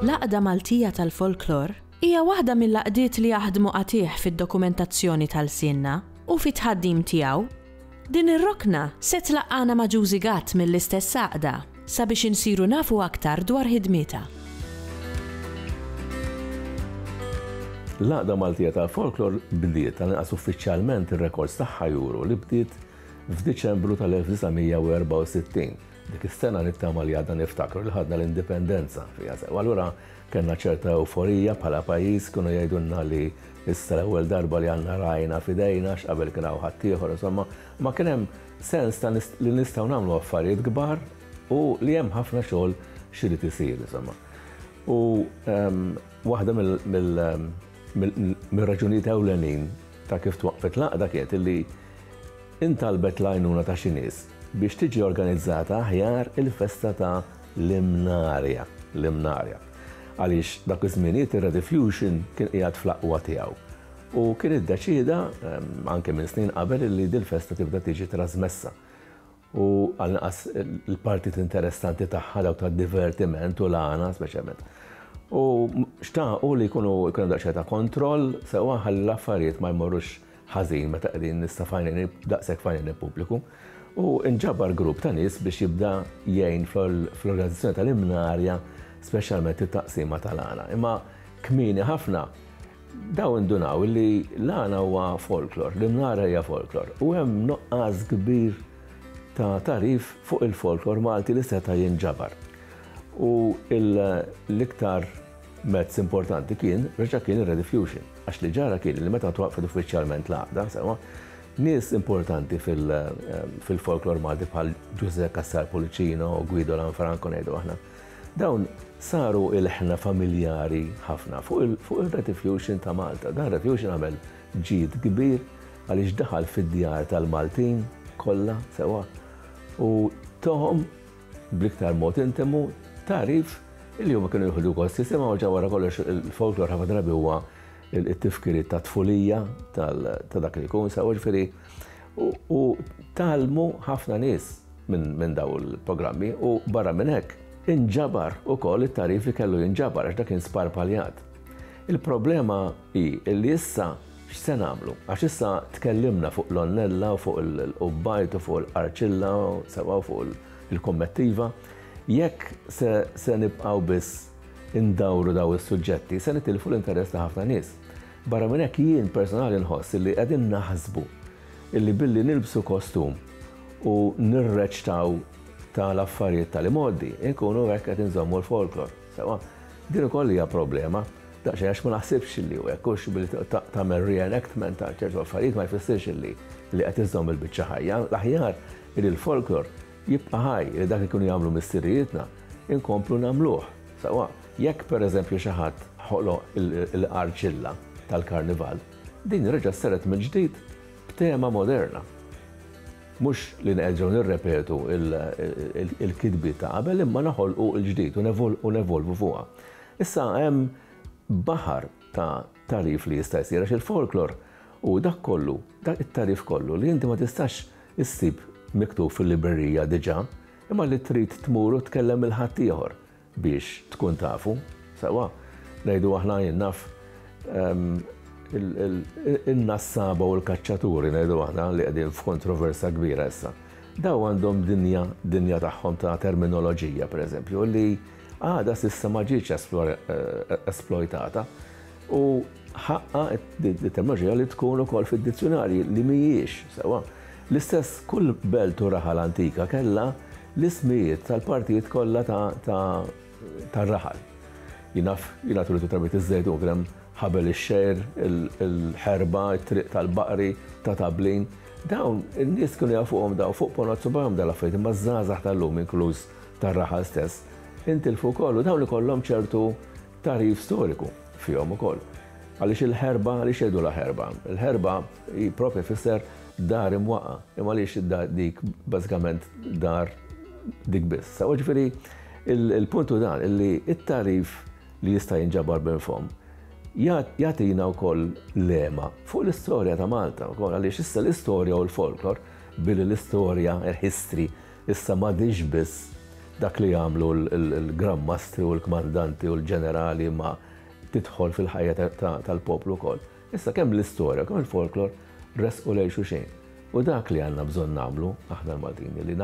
L-Għaqda Maltija tal-Folklor hija waħda mill-għaqdiet li jaħdmu qatigħ fid-dokumentazzjoni ta' lsienna u fit-tħaddim tiegħu. Din ir-rokna se tlaqqagħna ma' Ġużi Gatt mill-istess għaqda sabiex insiru nafu aktar dwar ħidmietha. L-Għaqda Maltija tal-Folklor bdiet, għall-inqas uffiċjalment ir-rekords tagħha juru li bdiet f'Diċembru tal-1964. Dik is-sena nittama li għadna niftakru li ħadna l-indipendenza fiha sew. Allura kellna ċerta ewforija bħala pajjiż, kienu jgħidulna li issa l-ewwel darba li għandna rajna f'idejna għax qabel kien hawn ħaddieħor, insomma, ma kien hemm sens ta' li nistgħu nagħmlu affarijiet kbar u li hemm ħafna xogħol x'irid isir, insomma. U ehm, waħda mill-raġunijiet ewlenin ta' kif twaqqfet l-għaqda kienet illi Intalbet l-għajnuna ta' xi nies biex tiġi organizzata aħjar il-festa ta' l-Imnarja, l-Imnarja. Għaliex dak iż-żminijiet ir-Rediffusion kien qiegħed fl-aqwa tiegħu u kien iddeċieda, anke minn snin qabel, illi dil-festa tibda tiġi trasmessa u għall-inqas il-partit interessanti tagħha dawk tad-divertiment u l-għana speċjalment. U xtaqu li jkunu jkun hemm daqsxejn ta' kontroll sewwa ħalli l-affarijiet ma jmorrux ħażin meta qegħdin nista' f'għajnejn daqshekk f'għajnejn il-pubbliku. U nġabar grupp ta' nies biex jibda jgħin fl-organizzazzjoni tal-imnarja, speċjalment it-taqsima tal-għana. Imma kmieni ħafna dawn indunaw li l-għana huwa folklor, l-imnara hija folklor, u hemm nuqqas kbir ta' tagħrif fuq il-folklor Malti li seta' jinġabar. U l-iktar mezz importanti kien, reġa' kien ir-Rediffusion. Għax li ġara kien li meta twaqqfet uffiċjalment l-għaqda, sewwa, nies importanti fil-folklor Malti bħal Ġużè Cassar Pullicino u Guido Lanfranco ngħidu aħna, dawn saru ilħna familjari ħafna fuq ir-Rediffusion ta' Malta. Dan Rediffusion għamel ġid kbir għaliex daħal fid-djar tal-Maltin kollha sewwa u tahom bl-iktar mod intimu tagħrif li huma kienu jieħdu gost jisimgħu ġa wara kollox il-folklor ħafna drabi huwa it-tifkiriet ta' tfulija ta' dak li jkun sew ġifieri u tgħallmu ħafna nies minn daw il-programmi u barra minn hekk inġabar ukoll it-tagħrif li kellu jinġabar għax dak kien sparpaljat. Il-problema hi li issa x'se nagħmlu? Għax issa tkellimna fuq l-onnella u fuq il-qubbajt u fuq il-qarċilla sewwa u fuq il-kommettiva. Jekk se, se nibqgħu biss indawru daw is-suġġetti, se nitilfu l-interess ta' ħafna nies. Barra minn hekk jien personali nħoss li qegħdin naħsbu illi billi nilbsu kostum u nirreċtaw tal-affarijiet tal-imgħoddi, inkunu hekk qed inżommu l-folklor. Sewwa, din ukoll hija problema. Daqsxejn għax ma naħsibx li hu hekk, hux billi tagħmel reenactment ta' ċertu affarijiet ma jfissirx illi li qed iżżomm il-biċċa ħajja. L-aħjar li l-folklor jibqa' ħaj, li dak li kienu jagħmlu missirijietna inkomplu nagħmluh. Sewwa, jekk pereżempju xi ħadd ħoloq il-qarċilla tal-karnival, din reġgħet saret mill-ġdid b'tema moderna. Mhux li nerġgħu nirrepetu l-kitbiet ta' qabel imma noħolqu l-ġdid u nevolvu fuqha. Issa hemm baħar ta' tagħrif li jista' jsir għax il-folklor hu dak kollu, dak it-tagħrif kollu li inti ma tistax issib miktub fil-librerija diġà, imma li trid tmur u tkellem lil ħaddieħor biex tkun tafu. Sewwa, ngħidu aħna jien naf in-nassaba u l-kaċċaturi ngħidu aħna li qegħdin f'kontroversja kbira issa. Daw għandhom dinja dinja tagħhom ta' terminoloġija pereżempju li għadha s'issa ma ġietx esplojtata u ħaqqa t-terminoloġija li tkun ukoll fid-dizzjunarji li mhijiex sewwa. L-istess kull belt u raħal antika kellha l-ismijiet tal-partijiet kollha tar-raħal. Jien naf, jiena twilt u trabbejt iż-Żejtun, kien hemm ħabel ix-xgħir, il-ħerba, it-triq tal-baqri, ta' Tablin. Dawn in-nies kienu jafuhom dawn fuq ponot subgħajhom dawn l-affarijiet, imma ż-żgħażagħ tal-lum inkluż tar-raħal stess, intilfu wkoll u dawn ikollhom ċertu tagħrif storiku fihom ukoll. Għaliex il-ħerba, għaliex jgħidulha ħerba? Il-ħerba hi proprja tfisser dar imwaqqa', imma għaliex dik bażikament dar dik biss. Sewwa ġifieri il-punt hu dan illi t-tagħrif li jista' jinġabar minn fomm, jagħtina wkoll lema fuq l-istorja ta' Malta wkoll għaliex issa l-istorja u l-folklor billi l-istorja, il-history, issa m'għadhiex biss dak li jagħmlu l-Gran Mastri u l-kmandanti u l-ġenerali ma tidħol fil-ħajja tal-poplu wkoll. Issa kemm l-istorja kemm il-folklor resqu lejn xulxin. U dak li għandna bżonn nagħmlu aħna l-Maltin li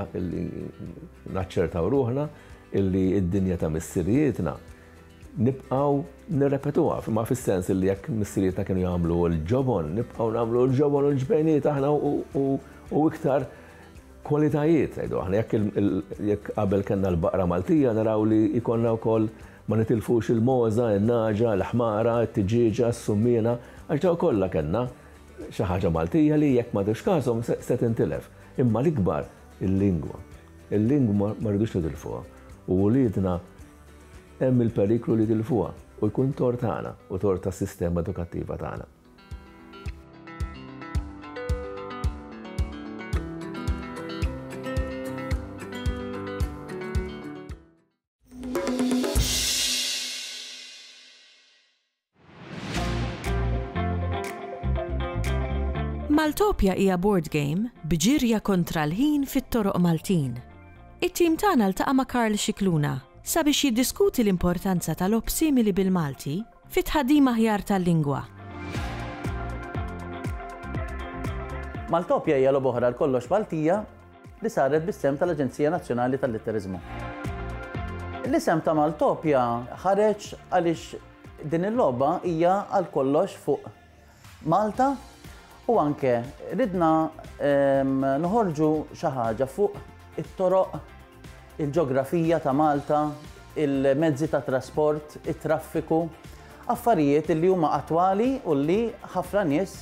naċċertaw ruħna illi d-dinja ta' missirijietna nibqgħu nirrepetuha, ma fis-sens li jekk missirijietna kienu jagħmlu l-ġobon, nibqgħu nagħmlu l-ġobon u l-ġbejniet aħna u iktar kwalitajiet, ngħidu aħna jekk qabel kellna l-baqra Maltija naraw li jkollna wkoll ma nitilfux il-mogħża, in-nagħġa, il-ħmara, it-tiġieġa, s-summiena, għax dawn kollha kellna xi ħaġa Maltija li jekk ma tux kashom se tintilef. Imma l-ikbar il-lingwa. Il-lingwa ma rridux nitilfuha. U wliedna hemm il-periklu li jitilfuha u jkun tort tagħna u tort tas-sistema edukattiva tagħna. Maltopia hija board game b'ġirja kontra l-ħin fit-toroq Maltin. It-tim tagħna ltaqa' ma' Karl Scicluna sabiex jiddiskuti l-importanza ta' logħob simili bil-Malti fit-tħaddim aħjar tal-lingwa. Maltopia hija logħba oħra għal kollox Maltija li saret bis-sehem tal-Aġenzija Nazzjonali tal-Litteriżmu. L-isem ta' Maltopia ħareġ għaliex din il-logħba hija għal kollox fuq Malta u anke ridna ehm, noħorġu xi ħaġa fuq it-toroq, il-ġografija ta' Malta, il-mezzi ta' trasport, it-traffiku, affarijiet li huma attwali u li ħafna nies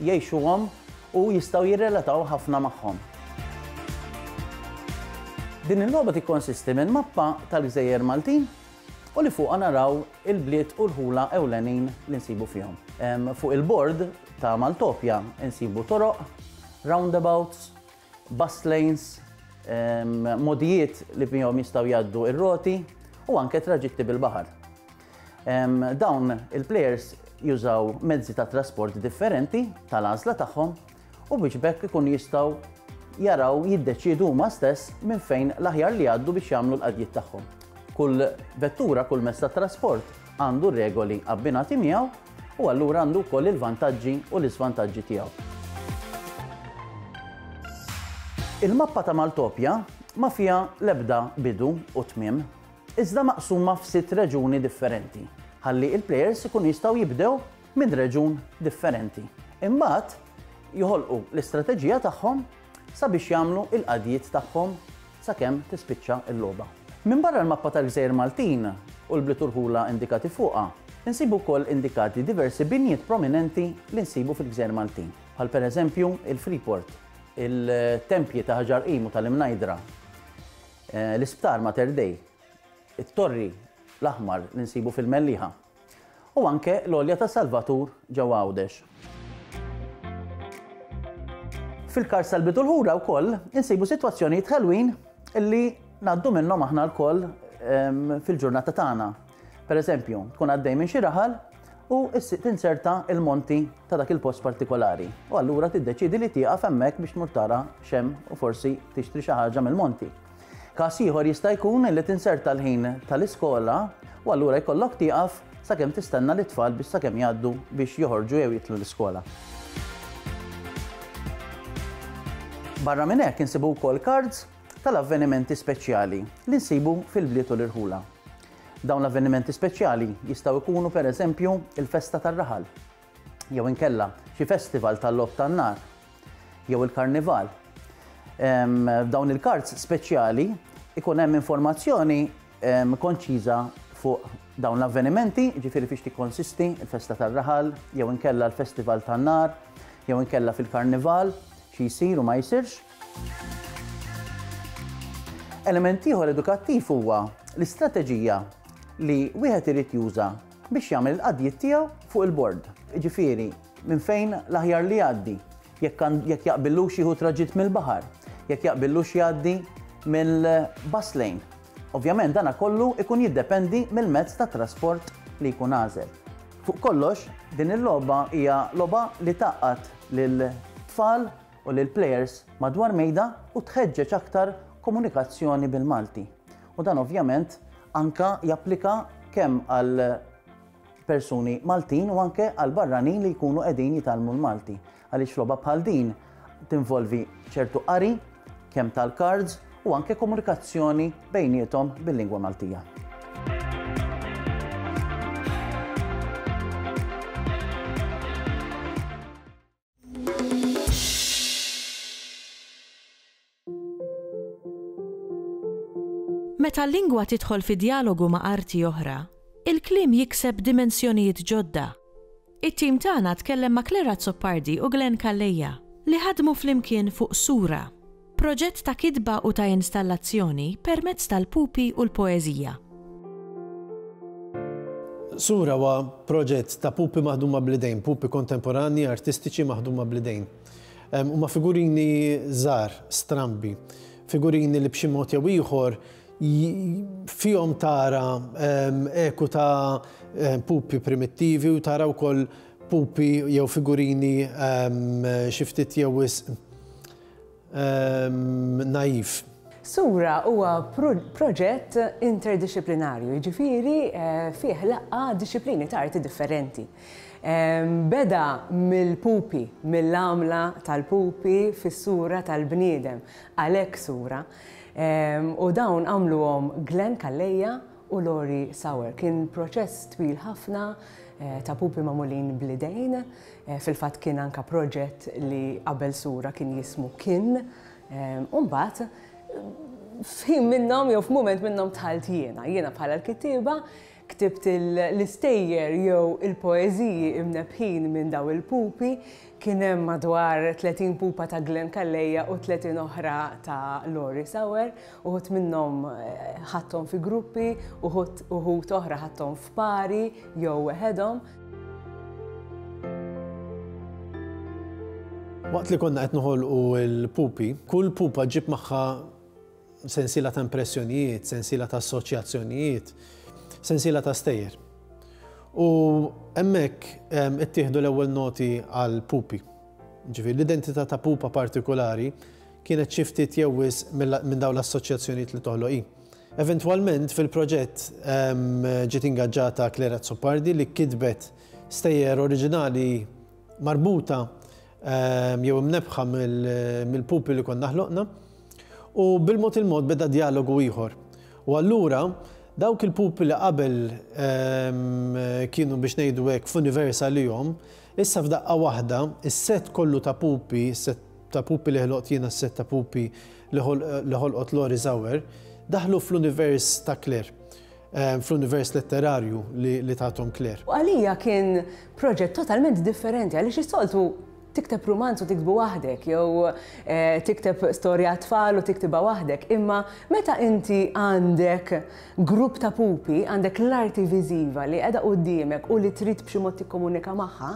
jgħixuhom u jistgħu jirrelataw ħafna magħhom. Din il-logħba tikkonsisti minn mappa tal-gżejjer Maltin u li fuqha naraw il-bliet u l-ħula ewlenin li nsibu fihom. Fuq il-bord ta' Maltopja nsibu toroq, roundabouts, bus lanes, mogħdijiet li fihom jistgħu jgħaddu r-roti u anke traġitti bil-baħar. Dawn il-plejers jużaw mezzi ta' trasport differenti tal-għażla tagħhom u biex b'hekk ikunu jistgħu jaraw jiddeċiedu huma stess minn fejn l-aħjar li jgħaddu biex jagħmlu l-qadjiet tagħhom. Kull vettura, kull mezz ta' trasport għandu regoli abbinati miegħu u allura għandu wkoll il-vantaġġi u l-iżvantaġġi tiegħu. Il-mappa ta' Maltopja ma fiha l-ebda bidu u tmiem, iżda maqsuma f'sitt reġuni differenti, ħalli il-plejers ikunu jistgħu jibdew minn reġun differenti. Imbagħad joħolqu l-istrateġija tagħhom sabiex jagħmlu l-qadjiet tagħhom sakemm tispiċċa l-logħba. Minbarra l-mappa tal-gżejjer Maltin u l-bliet u rħula indikati fuqha, insibu wkoll indikati diversi binjiet prominenti li nsibu fil-gżejjer Maltin, bħal pereżempju il-Freeport, il-tempji ta' Ħaġar Qim u tal-Imnajdra, l-Isptar Mater Dei, it-Torri l-Aħmar li nsibu fil-Mellieħa. U anke l-Għolja ta' Salvatur ġewwa Għawdex. Fil-Kars tal-Bidu l-Ħura wkoll insibu sitwazzjonijiet ħelwin li ngħaddu minnhom aħna lkoll ehm, fil-ġurnata tagħna. Per eżempju, tkun għaddej minn xi raħal u tinserta il-monti ta' dak il-post partikolari. U allura tiddeċidi li tieqaf hemmhekk biex tmur tara x'hemm u forsi tixtri xi ħaġa mill-monti. Każ ieħor jista' jkun li tinserta l-ħin tal-iskola u allura jkollok tieqaf sakemm tistenna lit-tfal biex sakemm jgħaddu biex joħorġu jew jidħlu l-iskola. Barra minn hekk insibu wkoll cards tal-avvenimenti speċjali li nsibu fil-bliet u l-irħula. Dawn l-avvenimenti speċjali jistgħu jkunu pereżempju il-festa tar-raħal, jew inkella xi festival tal-logħob tan-nar, jew il-karnival. F'dawn il-kards speċjali ikun hemm informazzjoni konċiża fuq dawn l-avvenimenti, ġifieri fiex tikkonsisti il-festa tar-raħal, jew inkella l-festival tan-nar, jew inkella fil-karnival, xi jsir u ma jsirx. Element ieħor edukattiv huwa l-istrateġija li wieħed irid juża biex jagħmel il-qadjiet tiegħu fuq il-bord. Ġifieri, minn fejn l-aħjar li jgħaddi, jekk jekk jaqbillux jieħu traġitt mill-baħar, jekk jaqbillux jgħaddi mill-bus lane. Ovvjament dana kollu ikun jiddependi mill-mezz ta' trasport li jkun għażel. Fuq kollox, din il-logħba hija logħba li tgħaqqad lil tfal u lil plejers madwar mejda u tħeġġeġ aktar komunikazzjoni bil-Malti. U dan ovvjament anka japplika kemm għal persuni Maltin u anke għal barranin li jkunu qegħdin jitgħallmu l-Malti. Għaliex logħba bħal din tinvolvi ċertu qari, kemm tal-cards u anke komunikazzjoni bejniethom bil-lingwa Maltija. Meta l-lingwa tidħol fi djalogu ma' arti oħra, il-kliem jikseb dimensjonijiet ġodda. It-tim tagħna tkellem ma' Claire Azzopardi u Glenn Calleja, li ħadmu flimkien fuq Sura, proġett ta' kitba u ta' installazzjoni permezz tal-pupi u l-poeżija. Sura huwa proġett ta' pupi maħduma bl-idejn, pupi kontemporanji artistiċi maħduma bl-idejn. Huma figurini żgħar, strambi, figurini li b'xi mod jew ieħor fihom tara eku ta' pupi primittivi u tara wkoll pupi jew figurini xi ftit jew wisq naiv. Sura huwa proġett interdixxiplinarju, jiġifieri fih laqgħa dixxiplini ta' arti differenti. Beda mill-pupi, mill-għamla tal-pupi fis-sura tal-bniedem, għalhekk sura. U dawn għamluhom Glenn Calleja u Lori Sauer. Kien proċess twil ħafna ta' pupi magħmulin bl-idejn. Fil-fatt kien anke proġett li qabel sura kien jismu Kien. U mbagħad f'ħin minnhom jew f'mument minnhom dħalt jiena. Jiena bħala l-kittieba Ktibt l-istejjer jew il-poeżiji imnebbħin minn daw il-pupi. Kien hemm madwar 30 pupa ta' Glenn Calleja u 30 oħra ta' Lori Sauer. Uħud minnhom ħadthom fi gruppi, uħud uħud oħra ħadthom f'pari jew weħedhom. Waqt li konna qed noħolqu l-pupi, kull pupa ġġib magħha sensiela ta' impressjonijiet, sensiela ta' assoċjazzjonijiet, sensiela ta' stejjer. U hemmhekk ittieħdu l-ewwel noti għal pupi. Ġifieri l-identità ta' pupa partikolari kienet xi ftit jew wisq minn dawn l-assoċjazzjonijiet li toħloq hi. Eventwalment fil-proġett ġiet ingaġġata Claire Azzopardi li kitbet stejjer oriġinali marbuta jew imnebbħa mill-pupi li konna ħloqna. U bil-mod il-mod beda djalogu ieħor. U allura dawk il-pupi li qabel kienu biex ngħidu hekk f'univers għalihom, issa f'daqqa waħda is-sett kollu ta' pupi, is-sett ta' pupi li ħloqt jiena, s-sett ta' pupi li ħolqot Lori Sauer, daħlu fl-univers ta' Claire, fl-univers letterarju li tathom Claire. U għalija kien proġett totalment differenti għaliex is-soltu Tikteb rumanz u tiktbu waħdek jew tikteb storja għat-tfal u tiktibha waħdek, imma meta inti għandek grupp ta' pupi, għandek l-arti viżiva li qiegħda quddiemek u li trid b'xi mod tikkomunika magħha,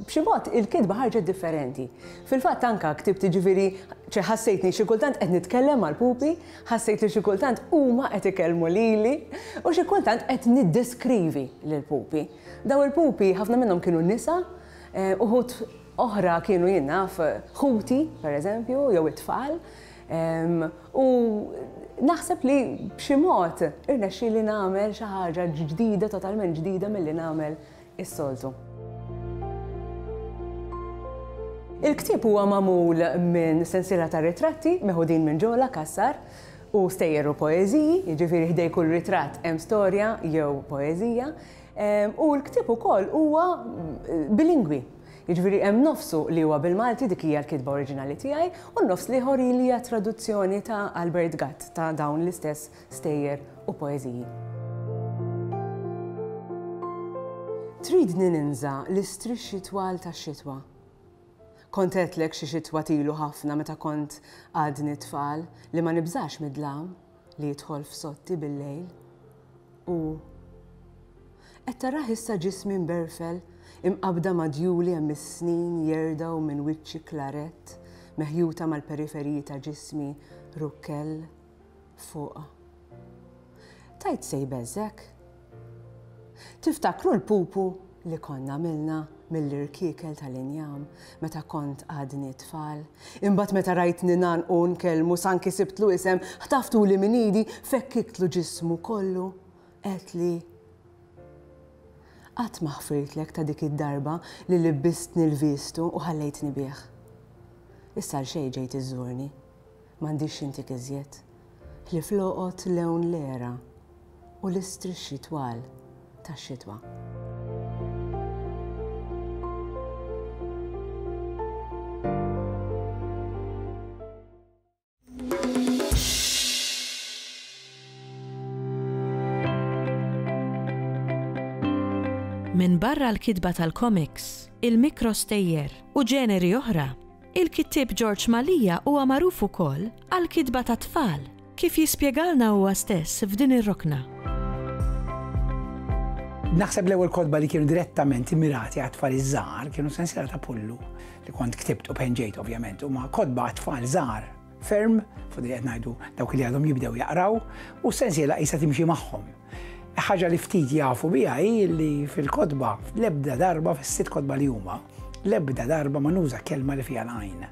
b'xi mod il-kitba ħarġet differenti. Fil-fatt anke ktibt jiġifieri ċe ħassejtni xi kultant qed nitkellem mal-pupi, ħassejt li xi kultant huma qed ikellmu lili u xi kultant qed niddeskrivi lill-pupi. Dawn il-pupi ħafna minnhom kienu nisa, Uħud oħra kienu jien naf ħuti, per eżempju, jew it-tfal. U naħseb li b'xi mod irnexxieli nagħmel xi ħaġa ġdida, totalment ġdida milli nagħmel is-soltu. Il-ktieb huwa magħmul minn sensiela ta' ritratti meħudin minn Ġola Cassar u stejjer u poeżiji, jiġifieri ħdej kull ritratt hemm storja jew poeżija. U l-ktieb ukoll huwa bilingwi. Jiġifieri hemm nofsu li huwa bil-Malti, dik hija l-kitba oriġinali tiegħi, u n-nofs l-ieħor li hija traduzzjoni ta' Albert Gatt ta' dawn l-istess stejjer u poeżiji. Tridni ninża' l-istrixxi twal tax-xitwa. Kont għedtlek xi xitwa t'ilu ħafna meta kont għadni tfal li ma nibżax mid-dlam li jidħol f'soddti bil-lejl. U qed tarah issa ġismi mberfel, imqabbda ma' djuli hemm is-snin jerdgħu minn wiċċi klarett, meħjuta mal-periferiji ta' ġismi rukkell fuq. Tgħid se jbeżżgħek? Tiftakru l-pupu li konna għamilna mill-irkiekel tal-injam meta kont għadni tfal? Imbagħad meta rajtni ngħannqu u nkellmu s'anki sibtlu isem, ħtaftuli minn idi, fekkiktlu ġismu kollu, għedtli, Qatt ma ħfirtlek ta' dik id-darba li libbistni l-vistu u ħallejtni bih. Issa għalxejn ġejt iżżurni. M'għandix x'intik iżjed. Ħlief l-għoqod lewn l-għera u l-istrixxi twal tax-xitwa. Minbarra l-kitba tal-komiks, il-mikrostejjer u ġeneri oħra, il-kittieb Ġorġ Mallia huwa magħruf ukoll għall-kitba tat-tfal, kif jispjegalna huwa stess f'din ir-rokna. Naħseb l-ewwel kotba li kienu direttament immirati għat-tfal iż-żgħar kienu sensiela ta' Pullu li kont ktibt u penġejt ovvjament huma kotba għat-tfal żgħar ferm, fuq li qed ngħidu dawk li għadhom jibdew jaqraw, u s-sensiela qisha timxi magħhom. Ħaġa li ftit jafu biha hi li fil-kotba, l-ebda darba fis-sitt kotba li huma, l-ebda darba ma nuża kelma li fiha l-għajn.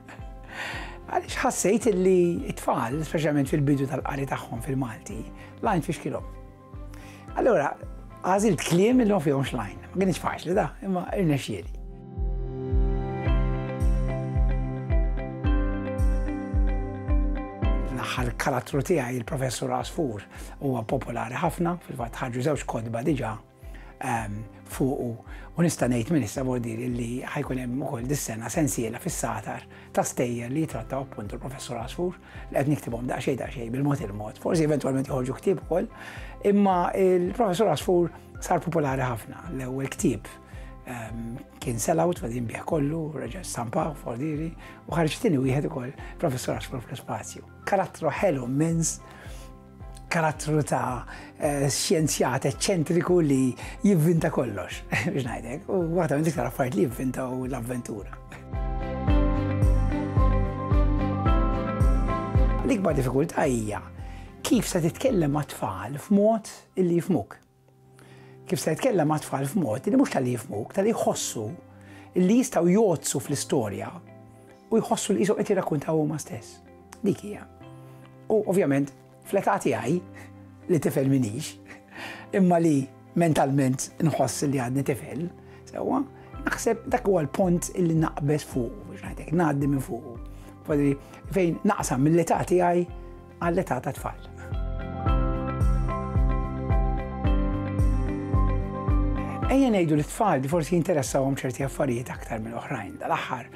Għaliex ħassejt li t-tfal, speċjalment fil-bidu tal-qari tagħhom fil-Malti, l-għajn tfixkilhom. Allura, għażilt kliem li ma fihomx l-għajn. Ma kienx faċli da, imma irnexxieli. L-aħħar karattru tiegħi, il-Professur Għasfur, huwa popolari ħafna, fil-fatt ħarġu żewġ kotba diġà ehm, fuqu u nista' ngħid minn issa bordir li ħajkun hemm ukoll dis-sena sensiela fis-satar ta' stejjer li jitrattaw appuntu l-Professur Għasfur li qed niktibhom daqsxejn daqsxejn bil-mod il-mod. Forsi eventwalment joħorġu ktieb ukoll, imma il-Professur Għasfur sar popolari ħafna. L-ewwel ktieb ehm, kien sell-out, fadin bih kollu, reġa' stampaw, fordiri, u ħarġ tieni wieħed ukoll Professur Għasfur fl-ispazju. Karattru ħelu immens, karattru ta' eh, xjenzjat eċċentriku li jivvinta kollox, biex ngħidlek, u waħda minn iktar affarijiet li jivvinta u l-avventura. L-ikbar diffikultà hija kif se titkellem ma' tfal f'mod illi jifmuk. Kif se titkellem ma' tfal f'mod li mhux tal-li jifmuk, tal-li jħossu li jistgħu jgħoddsu fl-istorja u jħossu li qishom qed jirrakkuntaw huma stess. Dik hija. U ovvjament fl-età tiegħi li tifel minix, imma li mentalment nħoss li għadni tifel, sewwa, naħseb dak huwa l-pont illi naqbeż fuq, biex ngħidlek, ngħaddi minn fuq. Fejn naqsam mill-età tiegħi għall-età ta' tfal. Ejja ngħidu li tfal li forsi jinteressawhom ċerti affarijiet aktar minn oħrajn. Dal-aħħar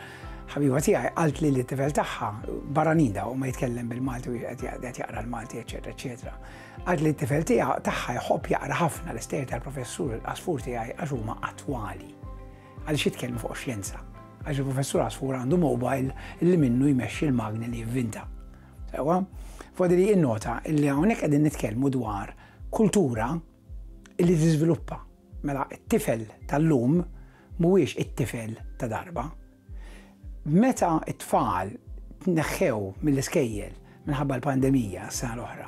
ħabiba tiegħi qalt li t-tifel tagħha barranin daw ma jitkellem bil-Malti u qed jaqra l-Malti, eċetera, eċetera. Qalt li t-tifel tiegħu tagħha jħobb jaqra ħafna l-istejjer tal-professur il-qasfur tiegħi għax huma attwali. Għaliex jitkellmu fuq xjenza. Għax il-professur Għasfur għandu mobile li minnu jmexxi l-magni li jivvinta. Sewwa? Fodri innota illi hawnhekk qegħdin nitkellmu dwar kultura illi tiżviluppa. Mela t-tifel tal-lum mhuwiex it-tifel ta' darba. Meta t-tfal tneħħew mill-iskejjel minħabba l-pandemija s-sena l-oħra,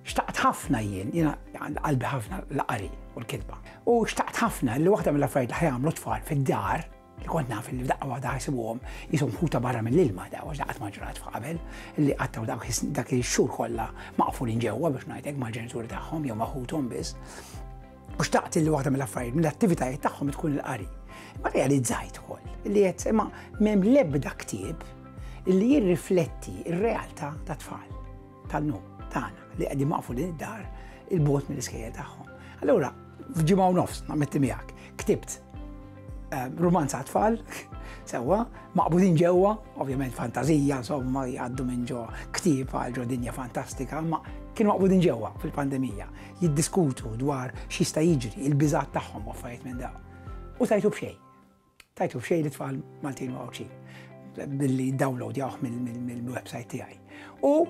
xtaqt ħafna jien, jiena qalbi ħafna l-qari u l-kitba. U xtaqt ħafna li waħda mill-affarijiet li ħajamlu tfal fid-dar li kont naf li f'daqqa waħda ħajsibuhom jisom ħuta barra mill-ilma da għax daqqa ma ġrat f'qabel li qattaw dak ix-xhur kollha maqfulin ġewwa biex ngħidlek mal-ġenituri tagħhom jew ma' ħuthom biss. U xtaqt li waħda mill-affarijiet mill-attivitajiet tagħhom tkun il-qari. Ma realizzajt ukoll li qed imma m'hemm l-ebda ktieb li jirrifletti r-realtà ta' tfal tal-lum tagħna li qegħdin maqfulin id-dar il-bogħod mill-iskejjel tagħhom. Allura, f'ġimgħa u nofs, nammetti miegħek, ktibt eh, rumanz għat-tfal, sewwa, maqbudin ġewwa, ovvjament fantazija, insomma, jgħaddu minn ġo ktieb għal ġo dinja fantastika, ma kienu maqbudin ġewwa fil-pandemija, jiddiskutu dwar x'jista' jiġri, il-biżgħat tagħhom u affarijiet minn dawn. U tajtu b'xejn. Tajtu b'xejn li tfal Maltin u Għawdxin billi download jawh mill-website tiegħi. U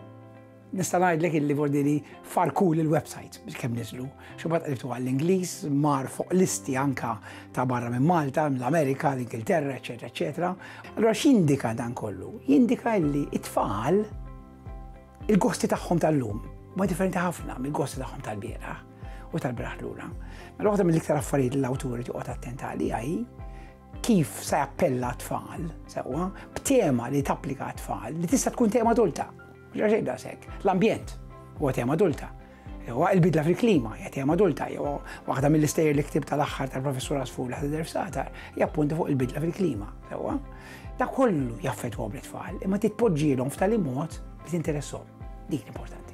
nista' ngħidlek illi vordi li farku l-website biex kemm niżlu. Xi qribtu għall-Ingliż, mar fuq listi anka ta' barra minn Malta, mill-Amerika, l-Ingilterra, eċetera, eċetera. Allura x'jindika dan kollu? Jindika illi it-tfal il-gosti tagħhom tal-lum. Huma differenti ħafna mill-gosti tagħhom tal-bieraħ u tal-bieraħ lura. Mela waħda mill-iktar affarijiet li l-awtur joqgħod attent għaliha hi kif se jappella tfal, sewwa, b'tema li tapplika tfal li tista' tkun tema adulta. Mhux xejn daqshekk. L-ambjent huwa tema adulta. Huwa il-bidla fil-klima hija tema adulta, jew waħda mill-istejjer li ktib tal-aħħar tal-professur Asfur li ħadher f'Satar hija appuntu fuq il-bidla fil-klima, sewwa. Da kollu jaffettwa bl-tfal, imma titpoġġielhom f'tali mod li tinteresshom. Dik l-importanti.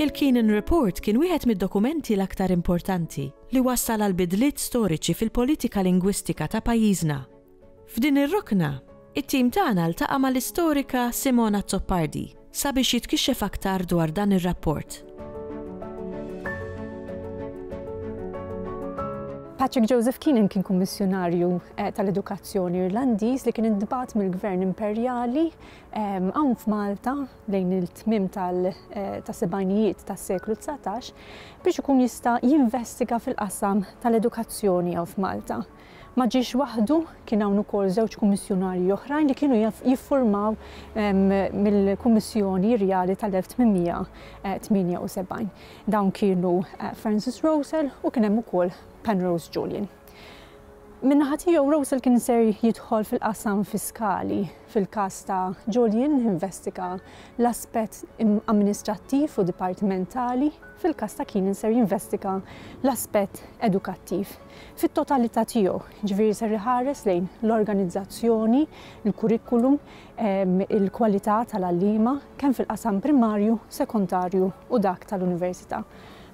Il-Keenan Report kien wieħed mid-dokumenti l-aktar importanti li wassal għal bidliet storiċi fil-politika lingwistika ta' pajjiżna. F'din ir-rokna, it-tim tagħna ltaqa' mal-istorika Simona Azzopardi sabiex jitkixxef aktar dwar dan ir-rapport. Patrick Joseph Keenan kien kummissjonarju eh, tal-edukazzjoni Irlandiż li kien intbagħat mill-Gvern Imperjali ehm, hawn f'Malta lejn il-tmiem tal-sebgħinijiet eh, tas-seklu 19 biex ikun jista' jinvestiga fil-qasam tal-edukazzjoni hawn f'Malta. Ma ġiex waħdu, kien hawn ukoll żewġ kummissjonarji oħrajn li kienu jiffurmaw mill-Kummissjoni Rjali tal-1878. Dawn kienu Francis Rosell u kien hemm ukoll Penrose Julian. Min-naħa tiegħu Rosell kien ser jidħol fil-qasam fiskali. Fil-każ ta' Julian investiga l-aspett amministrattiv u dipartimentali, fil-każ ta' Keenan ser jinvestiga l-aspett edukattiv. Fit-totalità tiegħu, jiġifieri ser iħares lejn l-organizzazzjoni, il-kurrikulum, il-kwalità tal-għalliema kemm fil-qasam primarju, sekondarju u dak tal-università.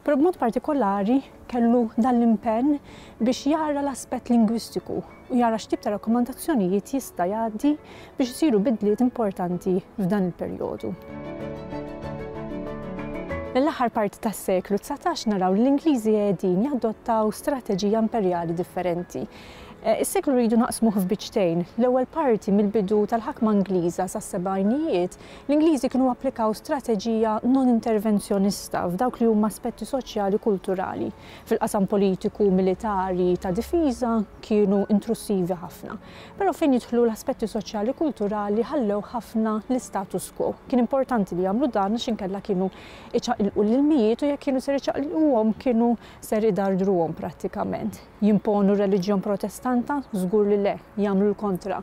Però b'mod partikolari kellu dan l-impenn biex jara l-aspett lingwistiku u jara x'tip ta' rakkomandazzjonijiet jista' jgħaddi biex isiru bidliet importanti f'dan il-perjodu. Mill-aħħar parti tas-seklu 19 naraw li l-Ingliżi qegħdin jadottaw strateġija imperjali differenti. Eh, is-seklu rridu naqsmuh f'biċċtejn. L-ewwel parti mill-bidu tal-ħakma Ingliża sas-sebgħinijiet, l-Ingliżi kienu applikaw strateġija non-intervenzjonista f'dawk li huma aspetti soċjali kulturali. Fil-qasam politiku, militari, ta' difiża kienu intrusivi ħafna. Però fejn jidħlu l-aspetti soċjali kulturali ħallew ħafna l-istatus quo. Kien importanti li jagħmlu dan għax inkella kienu iċaqilqu l-ilmijiet u jekk kienu ser iċaqilquhom kienu ser idardruhom prattikament. Jimponu r-reliġjon Protestanta? Żgur li le, jagħmlu l-kontra.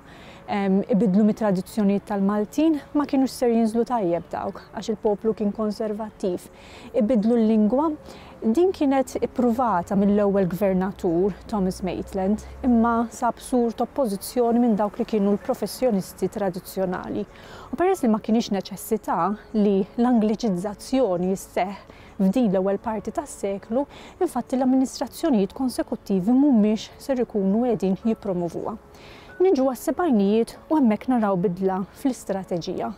Ibiddlu mit-tradizzjonijiet tal-Maltin? Ma kinux ser jinżlu tajjeb dawk għax il-poplu kien konservattiv. Ibiddlu l-lingwa? Din kienet ippruvata mill-ewwel gvernatur, Thomas Maitland, imma sab sur t'oppożizzjoni minn dawk li kienu l-professjonisti tradizzjonali. U peress li ma kinitx neċessità li l-Angliċizzazzjoni sseħħ f'din l-ewwel parti tas-seklu, infatti l-amministrazzjonijiet konsekuttivi mhumiex ser ikunu qegħdin jippromovuha. Niġu għas-sebgħinijiet u hemmhekk naraw bidla fl-istrateġija.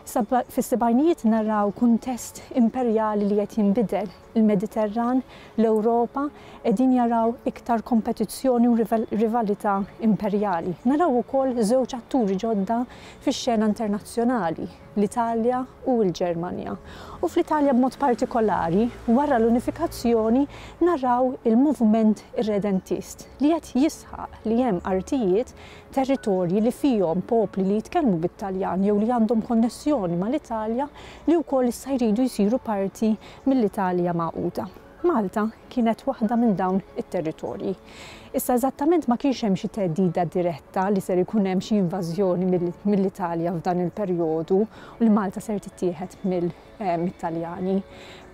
Fis-sebgħinijiet naraw kuntest imperjali li qed jinbidel, il-Mediterran, l-Ewropa qegħdin jaraw iktar kompetizzjoni u rivalità imperjali. Naraw ukoll żewġ atturi ġodda fix-xena internazzjonali, l-Italja u l-Ġermanja. U fl-Italja b'mod partikolari, wara l-unifikazzjoni, naraw il-moviment irredentist li qed jisħaq li hemm artijiet territorji li fihom popli li jitkellmu bit-Taljan jew li għandhom konnessjoni mal-Italja li wkoll issa jridu jsiru parti mill-Italja magħquda. Malta kienet waħda minn dawn it-territorji. Issa eżattament ma kienx hemm xi theddida diretta li ser ikun hemm xi invażjoni mill-Italja f'dan il-perjodu u li Malta ser tittieħed mill mit-Taljani.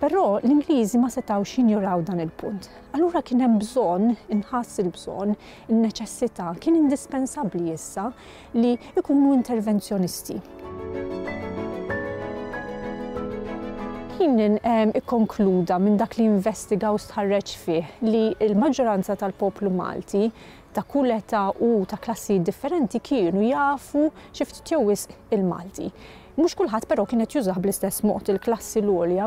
Però l-Ingliżi ma setgħux jinjoraw dan il-punt. Allura kien hemm bżonn, inħass il-bżonn, in-neċessità, kien indispensabbli issa li jkunu intervenzjonisti. Kien ikkonkluda minn dak li investiga u stħarreġ fih li l-maġġoranza tal-poplu Malti ta' kull età u ta' klassijiet differenti kienu jafu xi ftit jew wisq il-Malti. Mhux kulħadd però kien qed jużah bl-istess mod, il-klassi l-għolja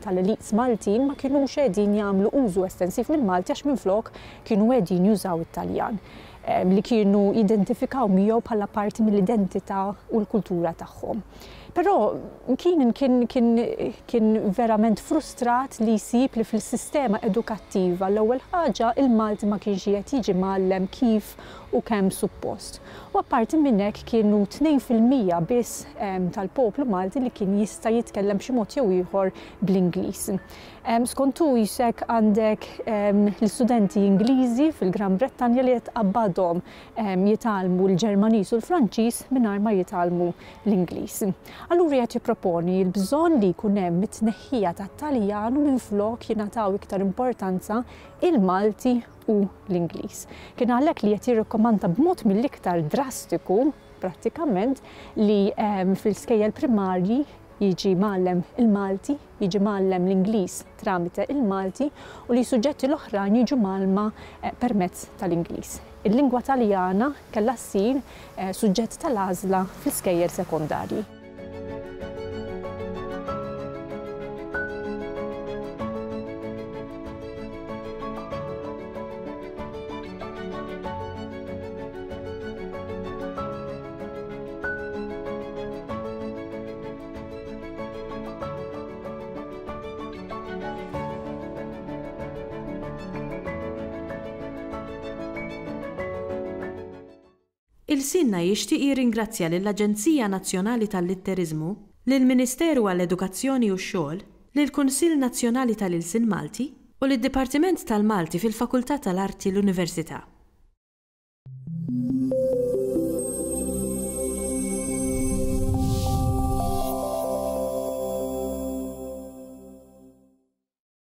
tal-elites Maltin ma kinux qegħdin jagħmlu użu estensiv mill-Malti għax minflok kienu qegħdin jużaw it-Taljan li kienu jidentifikaw miegħu bħala parti mill-identità u l-kultura tagħhom. Però Keenan kien kien kien verament frustrat li jsib li fil-sistema edukattiva l-ewwel ħaġa il-Malti ma kienx qiegħed jiġi mgħallem kif u kemm suppost. U apparti minn hekk kienu 2% biss tal-poplu Malti li kien jista' jitkellem b'xi mod jew ieħor bl-Ingliż. Skont hu jisek għandek l-istudenti Ingliżi fil-Gran Brettanja li qed tqabbadhom jitgħallmu l-Ġermaniż u l-Franċiż mingħajr ma jitgħallmu l-Ingliż. Allura qiegħed jipproponi l-bżonn li jkun hemm it-tneħħija tat-Taljan u minflok jingħataw iktar importanza il-Malti u l-Ingliż. Kien għalhekk li qed jirrikkomanda b'mod mill-iktar drastiku prattikament li fl-iskejjel primarji jiġi mgħallem il-Malti, jiġi mgħallem l-Ingliż tramite il-Malti u li suġġetti l-oħrajn jiġu mgħallma permezz tal-Ingliż. Il-lingwa Taljana kellha ssir suġġett tal-għażla fl-iskejjel sekondarji. Ilsienna jixtieq jirringrazzja lill-Aġenzija Nazzjonali tal-Litteriżmu, lill-Ministeru għall-Edukazzjoni u x-Xogħol, lill-Kunsill Nazzjonali tal-Ilsien Malti u lid-Dipartiment tal-Malti fil-Fakultà tal-Arti l-Università.